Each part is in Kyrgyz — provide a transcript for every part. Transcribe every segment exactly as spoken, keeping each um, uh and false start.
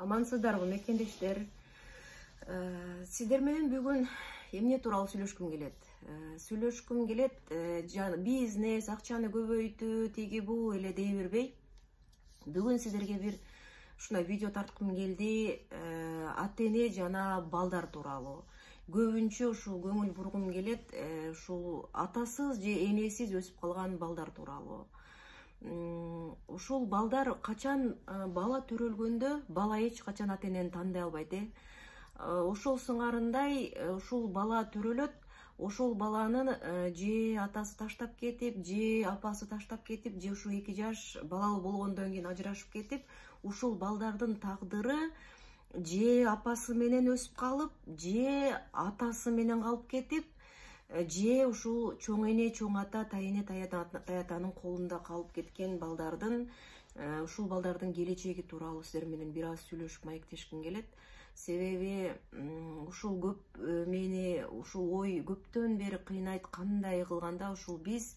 Амансыздарбы мекендештер. Сиздер менен бүгүн эмне тууралуу сүйлөшкүм келет? Сүйлөшкүм келет, бизнес, акчаны көбөйтүү, тиги бул эле дей бербей. Бүгүн сиздерге бир ушундай видео тарткым келди. Ата эне жана балдар тууралуу. Көбүнчө ушул көңүл бургум келет, ушул атасыз же энесиз өсүп калган балдар тууралуу. Ушул балдар качан бала төрөлгөндө бала эч качан ата энени тандай албайт, э. Ошол сыңарындай ушул бала төрөлөт, ошол баланын же атасы таштап кетип, же апасы таштап кетип, же ушу эки жаш балалуу болгондон кийин ажырашып кетип, ушул балдардын тагдыры же апасы менен өсүп калып, же атасы менен калып кетип, же ушул чоң эне, чоң ата, тайэне, таятанын колунда калып кеткен балдардын, ушул балдардын келечеги тууралуу сиздер менен бир аз сүйлөшүп маектешким келет. Себеби ушул көп мени ушул ой көптөн бери кыйнайт. Кандай кылганда ушул биз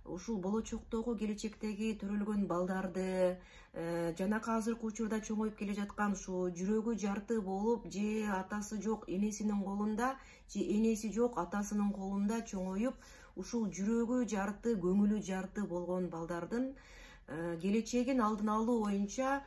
ушул болочоктогу келечектеги төрөлгөн балдарды жанакы азыркы учурда чоңоюп келе жаткан ушул жүрөгү жарты болуп, же атасы жок энесинин колунда, же энеси жок атасынын колунда чоңоюп, ушул жүрөгү жарты, көңүлү жарты болгон балдардын келечегин алдын алуу боюнча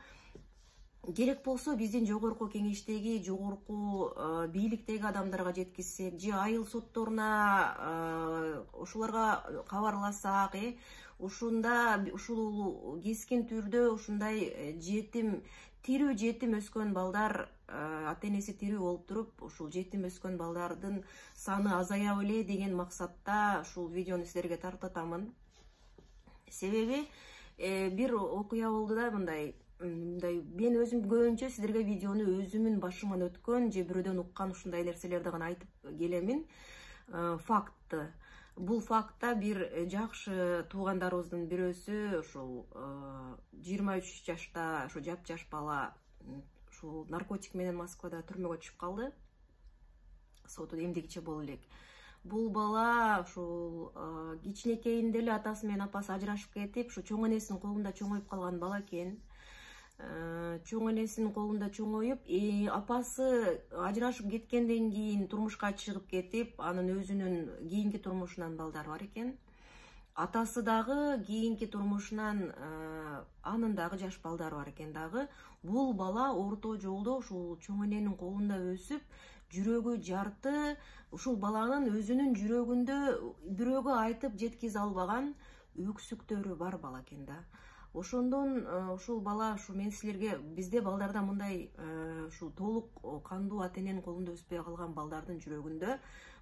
керек болсо биздин жогорку кеңештеги, жогорку бийликтеги адамдарга жеткизсек, же айыл сотторуна ошолорго кабарласак, э ушунда ушул кескин түрдө ушундай жетим, тирүү жетим өскөн балдар, ата энеси тирүү болуп туруп, ушул жетим өскөн балдардын саны азая беле деген максатта ушул видеону сиздерге тартатамын. Себеби бир окуя болду да, мындай мындай мен өзүм көбүнчө сиздерге видеону өзүмүн башыман өткөн же бирөөдөн уккан ушундай нерселерди гана айтып келемин. Факт. Бул фактта бир жакшы туугандарыбыздын бирөөсү ушул жыйырма үч жашта ушу жапжаш бала ушул наркотик менен Москвада түрмөгө түшүп калды. Соту эмдигиче боло элек. Бул бала ушул кичинекейинде эле атасы менен апасы ажырашып кетип, ушу чоң энесинин колунда чоңоюп калган бала экен. Чоң энесинин колунда чоңоюп, апасы ажырашып кеткенден кийин турмушка чыгып кетип, анын өзүнүн кийинки турмушунан балдар бар экен. Атасы дагы кийинки турмушунан анын дагы жаш балдары бар экен дагы. Бул бала орто жолдо ушул чоң эненин колунда өсүп, жүрөгү жарты, ушул баланын өзүнүн жүрөгүндө бирөөгө айтып жеткизе албаган өксүктөрү бар бала экен да. Ошондон ушул бала, ушу мен силерге бизде балдарда мындай ушул толук кандуу ата эненин колунда өспөй калган балдардын жүрөгүндө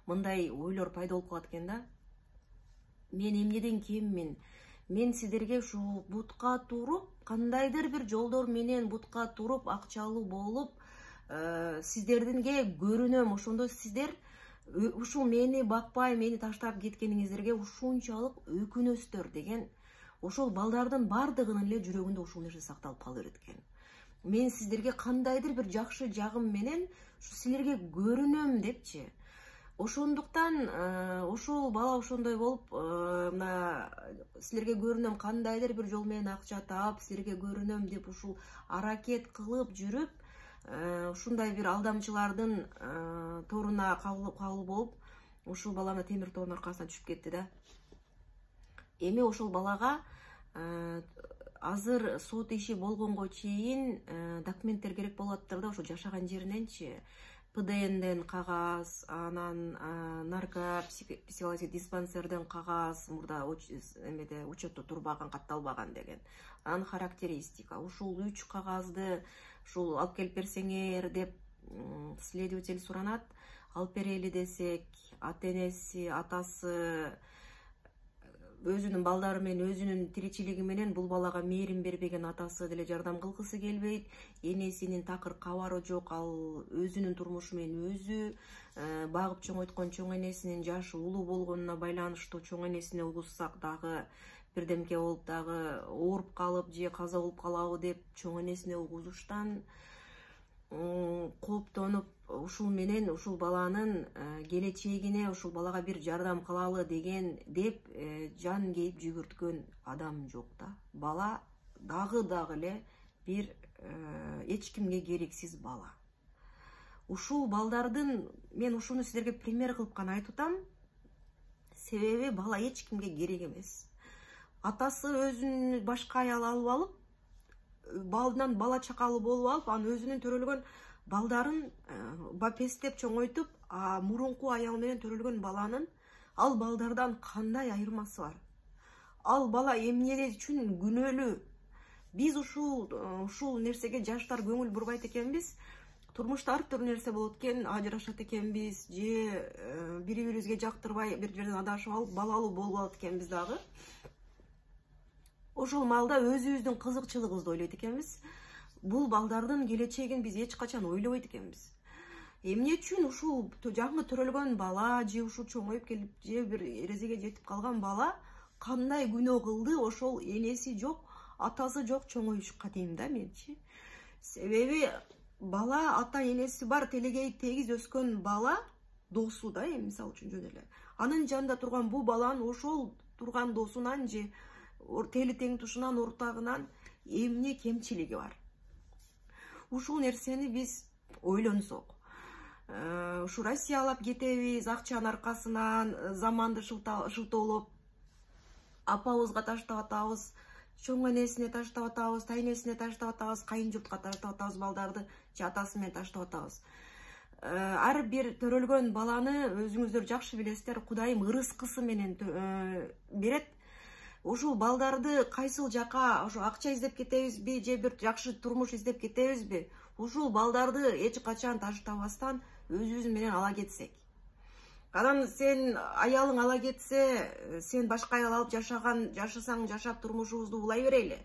мындай ойлор пайда болуп калат экен да. Мен эмнеден кеммин? Мен сиздерге ушул бутка туруп, кандайдыр бир жолдор менен бутка туруп, акчалуу болуп, сиздердинге көрүнөм. Ошондо сиздер ушул мени бакпай, мени таштап кеткениңиздерге ушунчалык өкүнөсүздөр деген. Ошол балдардын бардыгынын эле жүрөгүндө ушул нерсе сакталып кала берет экен. Мен сиздерге кандайдыр бир жакшы жагым менен силерге көрүнөм депчи. Ошондуктан ошол бала ошондой болуп, мына силерге көрүнөм, кандайдыр бир жол менен акча таап, силерге көрүнөм деп ушул аракет кылып жүрүп, ушундай бир алдамчылардын торуна кабыл болуп, ушул баланы темир тоонун аркасына түшүп кетти да. Эми ошол балага азыр сот иши болгонго чейин документтер керек болуп атыптыр да, ошо жашаган жериненчи. П Д Нден кагаз, анан наркопсихологический диспансерден кагаз, мурда эмеде учетто турбаган, катталбаган деген. Анан характеристика. Ушул үч кагазды ушул алып келип берсеңер деп следователь суранат. Алып берели десек, ата энеси, атасы өзүнүн балдары менен, өзүнүн тиричилиги менен бул балага мээрим бербеген атасы деле жардам кылгысы келбейт. Энесинин такыр кабары жок, ал өзүнүн турмушу менен өзү багып чоңойткон чоң энесинин жашы улуу болгонуна байланыштуу, чоң энесине угуссак дагы бирдемке болуп дагы ооруп калып же каза болуп калабы деп чоң энесине угузуштан кооптонуп, ушул менен ушул баланын келечегине, ушул балага бир жардам кылалы деген деп жан кейип жүгүрткөн адам жок да. Бала дагы дагы эле бир эч кимге керексиз бала. Ушул балдардын, мен ушуну силерге пример кылып гана айтып атам. Себеби бала эч кимге керек эмес. Атасы өзүн башка аял алып алып, балдан бала чакалуу болуп алып, анын өзүнүн төрөлгөн балдарын бапестеп чоңойтуп, а мурунку аял менен төрөлгөн баланын ал балдардан кандай айырмасы бар? Ал бала эмне үчүн күнөөлүү? Биз ушул ушул нерсеге жаштар көңүл бурбайт экенбиз. Турмушта ар түрдүү нерсе болот экен, ажырашат экенбиз, же бири-бирибизге жактырбай бир жерден адашып алып, балалуу болуп алат экенбиз дагы. Ошол маалда өзүбүздүн кызыкчылыгыбызды ойлойт экенбиз. Бул балдардын келечегин биз эч качан ойлобойт экенбиз. Эмне үчүн ушул жаңы төрөлгөн бала, же ушул чоңоюп келип, же бир эрезеге жетип калган бала кандай күнөө кылды? Ошол энеси жок, атасы жок чоңоюшка дейм да менчи. Себеби бала ата энеси бар, телегей тегиз өскөн бала досу да, эми мисалы үчүн жөн эле. Анын жанында турган бул баланын ошол турган досунан же тели тең тушунан, ортагынан эмне кемчилиги бар? Ушул нерсени биз ойлонсок, ушу Россиялап кетебиз, акчанын аркасынан, заманды шылтоолоп, апабызга таштап атабыз, чоң энесине таштап атабыз, тайнесине таштап атабыз, кайын журтка таштап атабыз балдарды, же атасы менен таштап атабыз. Ар бир төрөлгөн баланы өзүңүздөр жакшы билесиздер, Кудайым ырыскысы менен берет. Ушул балдарды кайсыл жака, ошо акча издеп кетебизби, же бир жакшы турмуш издеп кетебизби? Ушул балдарды эч качан таштабастан өзүбүз менен ала кетсек. Анан сен аялың ала кетсе, сен башка аял алып жашаган, жашасаң жашап турмушубузду улай берели.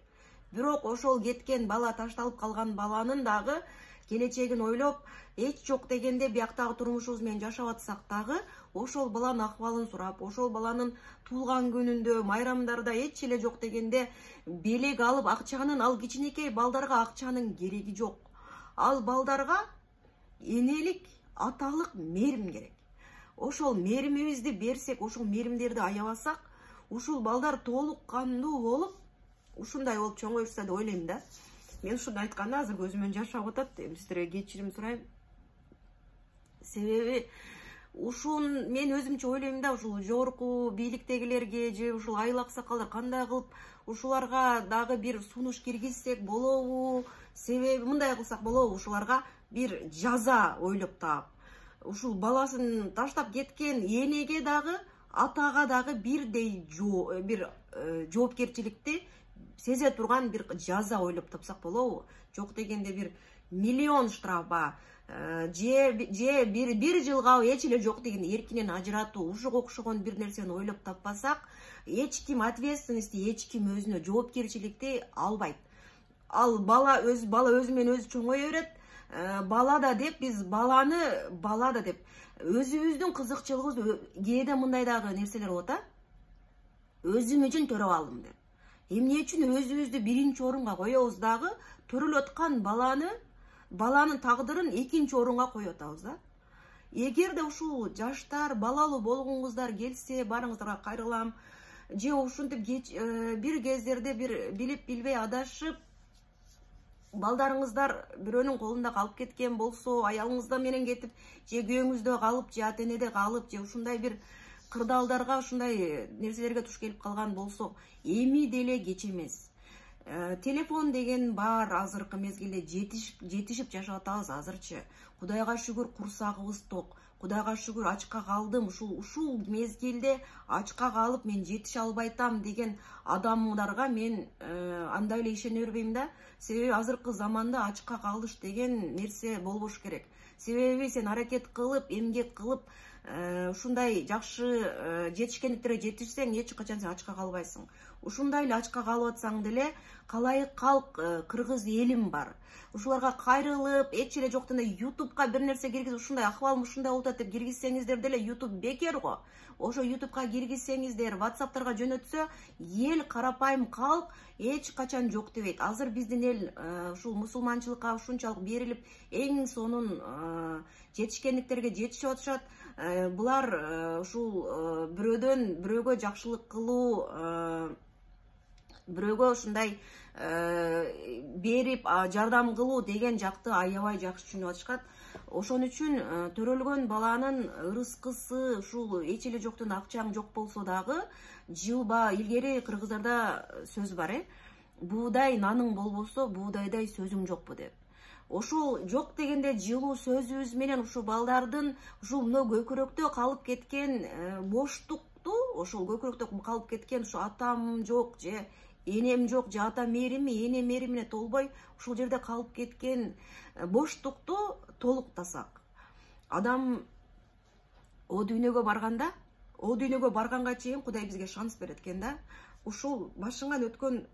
Бирок ошол кеткен бала, ташталып калган баланын дагы келечегин ойлоп, эч жок дегенде бияктагы турмушубуз менен жашап атсак дагы, ошол баланын акыбалын сурап, ошол баланын туулган күнүндө, майрамдарда эч эле жок дегенде белек алып, акчанын, ал кичинекей балдарга акчанын кереги жок. Ал балдарга энелик, аталык мээрим керек. Ошол мээримибизди берсек, ошол мээримдерди аябасак, ушул балдар толук кандуу болуп, ушундай болуп чоңоюшса деп ойлойм да. Мен ушуну айтканда азыр көзүмөн жаш агып атат, эми сиздерге кечирим сурайм. Себеби ушун мен өзүмчө ойлойм да, ушул жогорку бийликтегилерге же ушул айыл аксакалдар кандай кылып ушуларга дагы бир сунуш киргизсек болобу? Себеби мындай кылсак болобу? Ушуларга бир жаза ойлоп таап, ушул баласын таштап кеткен энеге дагы, атага дагы бирдей бир жоопкерчиликти сезе турган бир жаза ойлоп тапсак болобу? Жок дегенде бир миллион штраф, же бир бир жылга эч эле жок дегенде эркинен ажыратуу, ушуга окшогон бир нерсени ойлоп таппасак, эч ким ответственности, эч ким өзүнө жоопкерчиликти албайт. Ал бала өз бала өзү менен өзү чоңое берет. Бала да деп, биз баланы бала да деп өзүбүздүн кызыкчылыгыбыз, кээде мындай дагы нерселер болот а. Өзүм үчүн төрөп алдым деп. Эмне үчүн өзүбүздү биринчи орунга коебуз дагы, төрөлүп аткан баланы, баланын тагдырын экинчи орунга коюп атабыз да. Эгерде ушул жаштар, балалуу болгоңуздар келсе, барыңыздарга кайрылам. Же ушинтип бир кездерде бир билип билбей адашып, балдарыңыздар бирөөнүн колунда калып кеткен болсо, аялыңызда менен кетип, же күйөөңүздө калып, же ата-энеде калып, же ушундай бир кырдаалдарга, ушундай нерселерге туш келип калган болсо, эми деле кеч эмес. Телефон деген бар, азыркы мезгилде жетишип жашап атабыз азырчы. Кудайга шүгүр, курсагыбыз ток. Кудайга шүгүр, ачка калдым. Ушул ушул мезгилде ачка калып мен жетише албайтам деген адамдарга мен андай эле ишене бербейм да. Себеби азыркы заманда ачка калыш деген нерсе болбош керек. Себеби сен аракет кылып, эмгек кылып, ушундай жакшы жетишкендиктерге жетишсең, эч качан сен ачка калбайсың. Ушундай эле ачка калып атсаң деле, калайык калк кыргыз элим бар. Ушуларга кайрылып, эч эле жок дегенде ютубка бир нерсе киргизип, ушундай акыбалым ушундай болуп атат деп киргизсеңиздер деле, ютуб бекер го. Ошо ютубка киргизсеңиздер, ватсаптарга жөнөтсө, эл, карапайым калк эч качан жок дебейт. Азыр биздин эл ушул мусулманчылыкка ушунчалык берилип, эң сонун жетишкендиктерге жетишип атышат. Булар ушул бирөөдөн бирөөгө жакшылык кылуу бирөөгө ушундай берип жардам кылуу деген жакты аябай жакшы түшүнүп атышат. Ошон үчүн төрөлгөн баланын ырыскысы ушул эч эле жоктон акчаң жок болсо дагы жылба. Илгери кыргыздарда сөз бар, э буудай наның болбосо буудайдай сөзүң жокпу деп. Ошол жок дегенде жылуу сөзүбүз менен ушул балдардын ушул мына көкүрөктө калып кеткен боштукту, ошол көкүрөктө калып кеткен ушу атам жок же энем жок же ата мээрими эне мээримине толбой ушул жерде калып кеткен боштукту толуктасак, адам о дүйнөгө барганда, о дүйнөгө барганга чейин Кудай бизге шанс берет экен да. Ушул башыңан өткөн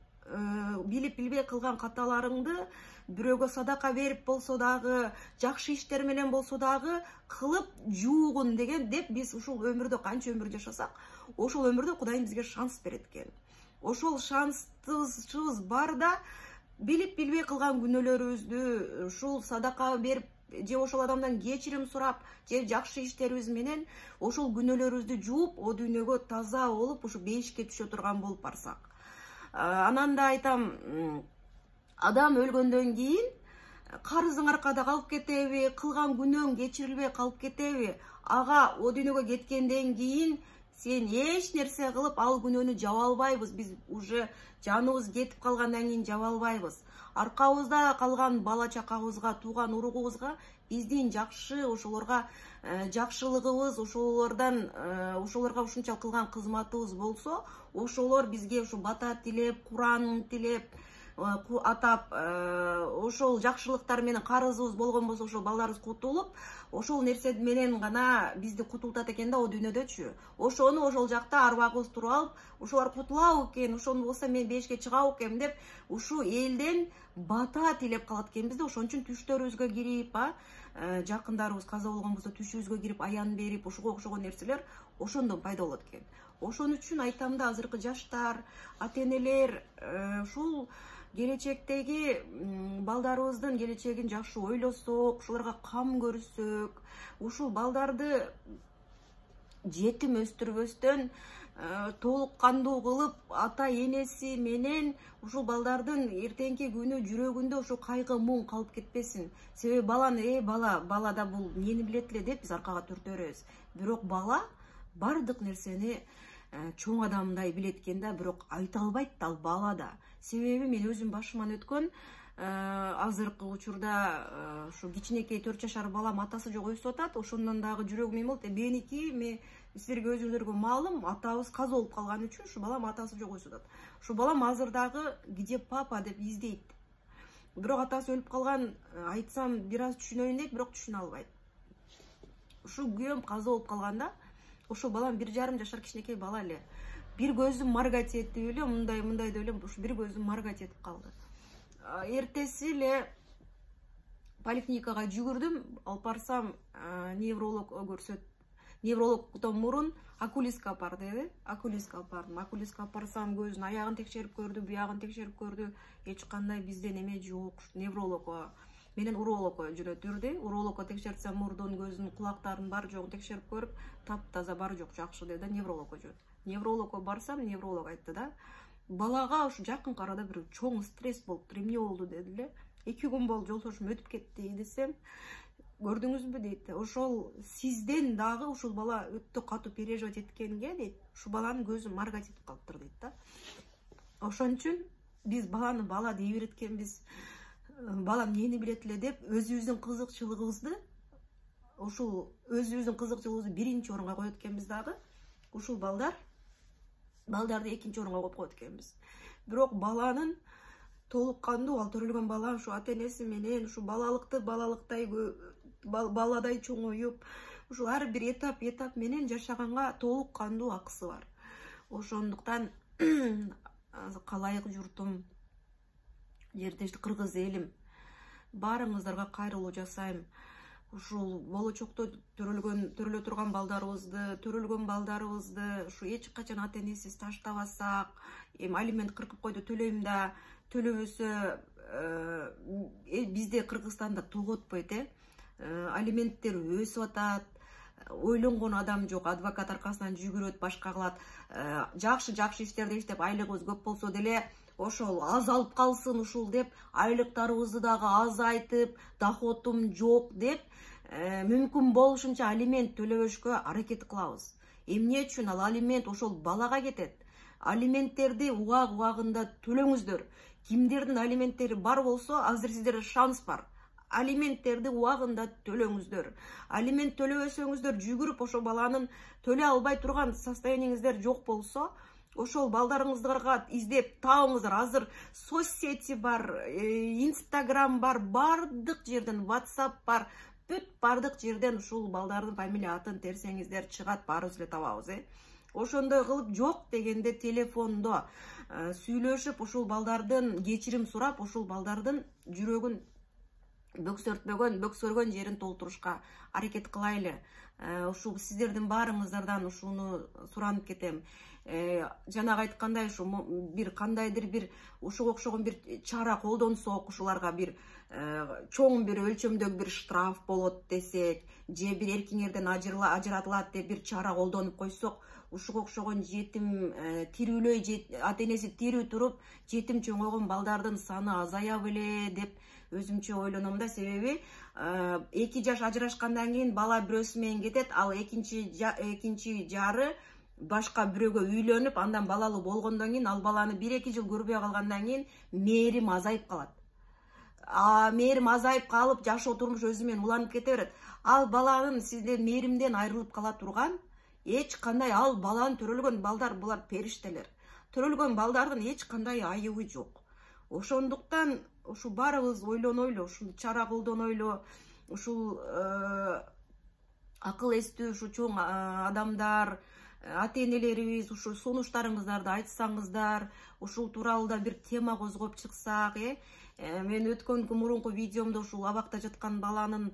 билип билбей кылган каталарыңды бирөөгө садака берип болсо дагы, жакшы иштер менен болсо дагы кылып жуугун деген деп биз ушул өмүрдө канча өмүр жашасак, ошол өмүрдө Кудайым бизге шанс берет экен. Ошол шансыбыз барда билип билбей кылган күнөөлөрүбүздү ушул садака берип же ошол адамдан кечирим сурап же жакшы иштерибиз менен ошол күнөөлөрүбүздү жууп, о дүйнөгө таза болуп, ушу бейишке түшө турган болуп барсак. Анан да айтам, адам өлгөндөн кийин карызың аркада калып кетеби, кылган күнөөң кечирилбей калып кетеби? Ага о дүйнөгө кеткенден кийин сен эч нерсе кылып ал күнөөнү жаба албайбыз. Биз уже жаныбыз кетип калгандан кийин жаба албайбыз. Аркабызда калган бала чакабызга, тууган уругубузга биздин жакшы ошолорго жакшылыгыбыз, ошолордон ошолорго ушунчалык кылган кызматыбыз болсо, ошолор бизге ушу бата тилеп, Куран тилеп, атап, ошол жакшылыктар менен карызыбыз болгон болсо, ошол балдарыбыз кутулуп, ошол нерсе менен гана бизди кутултат экен да о дүйнөдөчү. Ошону ошол жакта арбагыбыз туруп алып, ошолар кутулабы экен, ошону болсо мен бешке чыгабы экенмин деп, ушу элден бата тилеп калат экенбиз да. Ошон үчүн түштөрүбүзгө кирип, жакындарыбыз каза болгон болсо түшүбүзгө кирип аян берип, ошого окшогон нерселер ошондон пайда болот экен. Ошон үчүн айтам да, азыркы жаштар, ата энелер ушул келечектеги балдарыбыздын келечегин жакшы ойлосок, ушуларга кам көрсөк, ушул балдарды жетим өстүрбөстөн толук кандуу кылып, ата энеси менен ушул балдардын эртеңки күнү жүрөгүндө ушул кайгы муң калып кетпесин. Себеби баланы, э бала, балада бул эмнени билет эле деп биз аркага түртөрөбүз. Бирок бала бардык нерсени чоң адамдай билет экен да, бирок айта албайт да ал балада. Себеби мен өзүм башыман өткөн азыркы учурда ушу кичинекей төрт жашар балам атасы жок өсүп атат. Ошондон дагы жүрөгүм эме болот. Меники, мен силерге өзүңөргө маалым, атабыз каза болуп калган үчүн ушу балам атасы жок өсүп атат. Ушу балам азыр дагы где папа деп издейт. Бирок атасы өлүп калган, айтсам бир аз түшүнөйүн дейт, бирок түшүнө албайт. Ушу күйөөм каза болуп калганда, ошол балам бир жарым жашар кичинекей бала эле. Бир көзүм маргать этти эле, мындай мындай деп элем, ушу бир көзүм маргать этип калды. Эртеси эле поликлиникага жүгүрдүм, алып барсам, невролог көрсөт. Неврологдон мурун окулистке алып бар деди. Окулистке алып бардым. Окулистке алып барсам, көзүнүн аягын текшерип көрдү, буягын текшерип көрдү. Эч кандай бизде неме жок. Неврологко менен урологко жөнөтүрдү. Урологко текшертсем, мурдун, көзүнүн, кулактарынын бар жогун текшерип көрүп, таптаза бар жок, жакшы деди. Неврологко жөнөттү. Неврологко барсам, невролог айтты да, балага ушу жакынкы арада бир чоң стресс болуптур, эмне болду деди эле. эки күн болду, жолдошум өтүп кетти десем, көрдүңүзбү дейт. Ошол сизден дагы ушул бала өтө катуу переживать эткенге дейт, ушу баланын көзү маргать этип калыптыр дейт да. Ошон үчүн биз баланы бала дей береткенбиз, бала эмнени билет эле деп, өзүбүздүн кызыкчылыгыбызды, ушул өзүбүздүн кызыкчылыгыбызды биринчи орунга коет экенбиз дагы. Ушул балдар балдарды экинчи орунга коюп коет экенбиз. Бирок баланын толук кандуу, ал төрөлгөн бала ушу ата энеси менен ушу балалыкты балалыктай баладай чоңоюп, ушул ар бир этап этап менен жашаганга толук кандуу акысы бар. Ошондуктан калайык журтум, жертешти кыргыз элим, баарыңыздарга кайрылуу жасайм. Ушул болочокто төрөлгөн төрөлө турган балдарыбызды, төрөлгөн балдарыбызды ушу эч качан ата энесиз таштабасак, эми алимент кыркып койду төлөйм да, төлөбөсө бизде Кыргызстанда тоготпойт, э алименттер өсүп атат, ойлонгон адам жок, адвокат аркасынан жүгүрөт, башка кылат. Жакшы жакшы иштерди иштеп айлыгыбыз көп болсо деле ошол азалып калсын ушул деп, айлыктарыбызды дагы азайтып, доходум жок деп, мүмкүн болушунча алимент төлөбөшкө аракет кылабыз. Эмне үчүн? Ал алимент ошол балага кетет. Алименттерди убак убагында төлөңүздөр. Кимдердин алименттери бар болсо, азыр сиздерде шанс бар. Алименттерди убагында төлөңүздөр. Алимент төлөбөсөңүздөр, жүгүрүп ошо баланын төлөй албай турган состояниеңиздер жок болсо, ошол балдарыңыздарга издеп табыңыздар. Азыр соцсети бар, Инстаграм бар, бардык жерден, WhatsApp бар, бүт бардык жерден ушул балдардын фамилия атын терсеңиздер чыгат, баарыбыз эле табабыз, э. Ошондой кылып жок дегенде телефондо сүйлөшүп, ушул балдардын кечирим сурап, ушул балдардын жүрөгүн бөксөртпөгөн, бөксөргөн жерин толтурушка аракет кылайлы. Ушул сиздердин баарыңыздардан ушуну суранып кетем. Жанагы айткандай, ушу бир кандайдыр бир ушуга окшогон бир чара колдонсок, ушуларга бир чоң бир өлчөмдөгү бир штраф болот десек, же бир эркиңерден ажыратылат деп бир чара колдонуп койсок, ушуга окшогон жетим тирүүлөй, ата энеси тирүү туруп, жетим чоңойгон балдардын саны азая беле деп өзүмчө ойлоном да. Себеби эки жаш ажырашкандан кийин бала бирөөсү менен кетет, ал экинчи экинчи жары башка бирөөгө үйлөнүп, андан балалуу болгондон кийин ал баланы бир эки жыл көрбөй калгандан кийин мээрим азайып калат. А мээрим азайып калып, жашоо турмуш өзү менен уланып кете берет. Ал баланын сиздер мээримден айрылып кала турган, эч кандай ал баланы төрөлгөн балдар, булар периштелер. Төрөлгөн балдардын эч кандай айыбы жок. Ошондуктан ушул баарыбыз ойлонойлу, ушул чара колдонойлу, ушул акыл эстүү ушу чоң адамдар, ата энелерибиз ушул сунуштарыңыздарды айтсаңыздар, ушул тууралуу да бир тема козгоп чыксак, э. Мен өткөн мурунку видеомдо ушул абакта жаткан баланын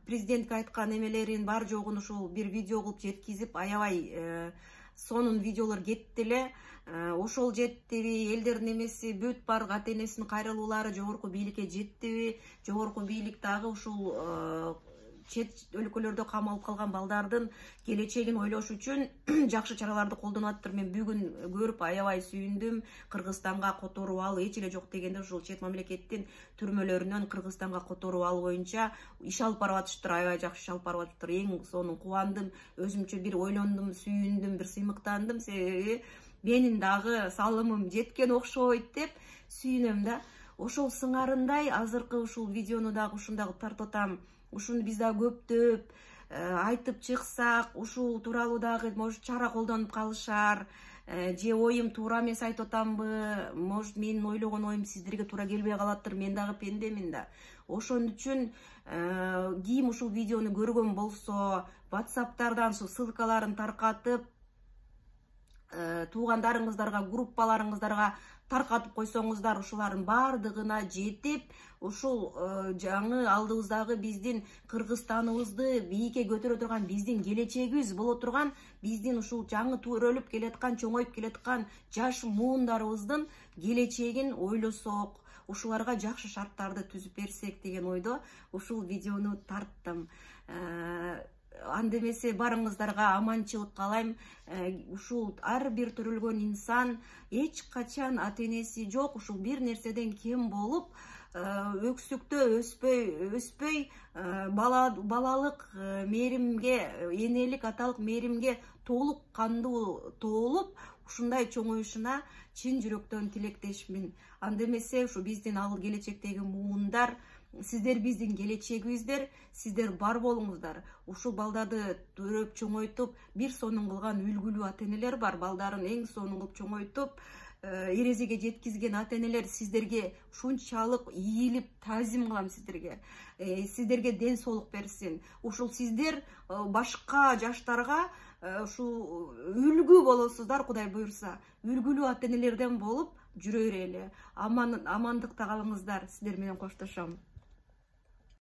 президентке айткан эмелерин бар жогун ушул бир видео кылып жеткизип, аябай сонун видеолор кетти эле. Ошол жеттиби, элдердин эмеси бүт бардык ата энесинин кайрылуулары жогорку бийликке жеттиби, жогорку бийлик дагы ушул чет өлкөлөрдө камалып калган балдардын келечегин ойлош үчүн жакшы чараларды колдонуп атыптыр. Мен бүгүн көрүп аябай сүйүндүм. Кыргызстанга которуп алуу эч эле жок дегенде ушул чет мамлекеттин түрмөлөрүнөн Кыргызстанга которуп алуу боюнча иш алып барып атыштыр. Аябай жакшы иш алып барып атыптыр. Эң сонун кубандым, өзүмчө бир ойлондум, сүйүндүм, бир сыймыктандым. Себеби менин дагы салымым жеткен окшойт деп сүйүнөм да. Ошол сыңарындай азыркы ушул видеону дагы ушундай кылып тартып атам. Ушуну биз дагы көптөп айтып чыксак, ушул тууралуу дагы может чара колдонуп калышар, же оюм туура эмес айтып атамбы, может менин ойлогон оюм сиздерге туура келбей калаттыр, мен дагы пендемин да. Ошон үчүн ким ушул видеону көргөн болсо, WhatsApp'тардан ушул ссылкаларын таркатып, туугандарыңыздарга, группаларыңыздарга таркатып койсоңуздар, ушулардын бардыгына жетип, ушул жаңы алдыбыздагы биздин Кыргызстаныбызды бийикке көтөрө турган, биздин келечегибиз боло турган, биздин ушул жаңы төрөлүп келаткан, чоңоюп келаткан жаш муундарыбыздын келечегин ойлосок, ушуларга жакшы шарттарды түзүп берсек деген ойдо ушул видеону тарттым. Анда эмесе барыңыздарга аманчылык каалайм. Ушул ар бир төрөлгөн инсан эч качан ата энеси жок, ушул бир нерседен кем болуп, өксүктө өспөй, өспөй балалык мээримге, энелик, аталык мээримге толук кандуу тоолуп, ушундай чоңоюшуна чын жүрөктөн тилектешмин. Анда эмесе ушу биздин ал келечектеги муундар, сиздер биздин келечегибиздер, сиздер бар болуңуздар. Ушул балдарды төрөп чоңойтуп, бир сонун кылган үлгүлүү ата энелер бар. Балдарын эң сонун кылып чоңойтуп, эрезеге жеткизген ата энелер сиздерге ушунчалык ийилип, таазим кылам сиздерге. Сиздерге ден соолук берсин. Ушул сиздер башка жаштарга ушул үлгү болосуздар, Кудай буйрса. Үлгүлүү ата энелерден болуп жүрө берели. Амандыкта калыңыздар. Сиздер менен коштошом.